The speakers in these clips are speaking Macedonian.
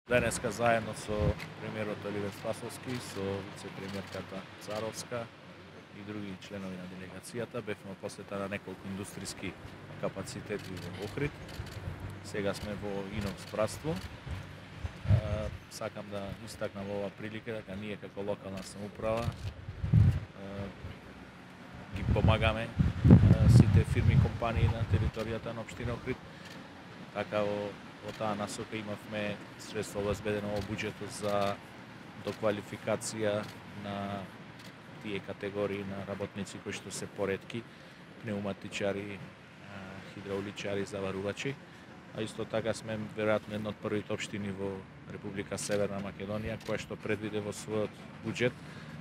Денеска заедно со премиерот Оливер Спасовски, со вице-премиерката Царовска и други членови на делегацијата бевме во посета на неколку индустријски капацитети во Охрид. Сега сме во Инокс братство. Сакам да истакнам во оваа прилика дека ние како локална самоуправа ги помагаме сите фирми и компании на територијата на општина Охрид. Така во таа насока имавме средства обезбедено во буџетот за доквалификација на тие категории на работници кои што се поретки, пнеуматичари, хидрауличари, заварувачи. А исто така сме веројатно една од првите општини во Република Северна Македонија која што предвиде во својот буџет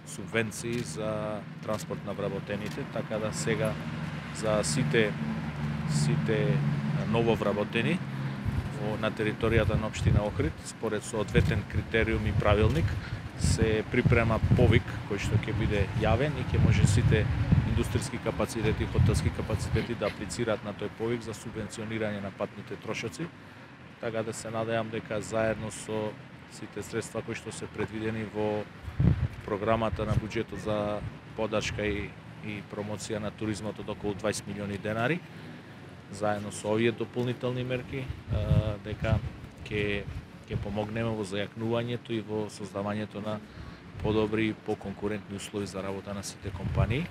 субвенции за транспорт на вработените, така да сега за сите нововработени на територијата на општина Охрид, според соодветен критериум и правилник, се припрема повик кој што ќе биде јавен и ќе може сите индустријски капацитети, хотелски капацитети да аплицираат на тој повик за субвенционирање на патните трошоци. Така да се надевам дека заедно со сите средства кои што се предвидени во програмата на буџетот за подршка и промоција на туризмот од околу 20 милиони денари, заедно со овие дополнителни мерки, дека ќе помогнеме во зајакнувањето и во создавањето на подобри и поконкурентни услови за работа на сите компании.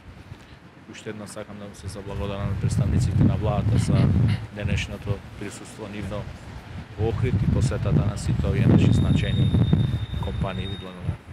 Уште еднаш сакам да му се заблагодарам на представниците на владата за денешното присуство нивно во Охрид и посетата на сите овие наши значајни компании. Ви благодарам.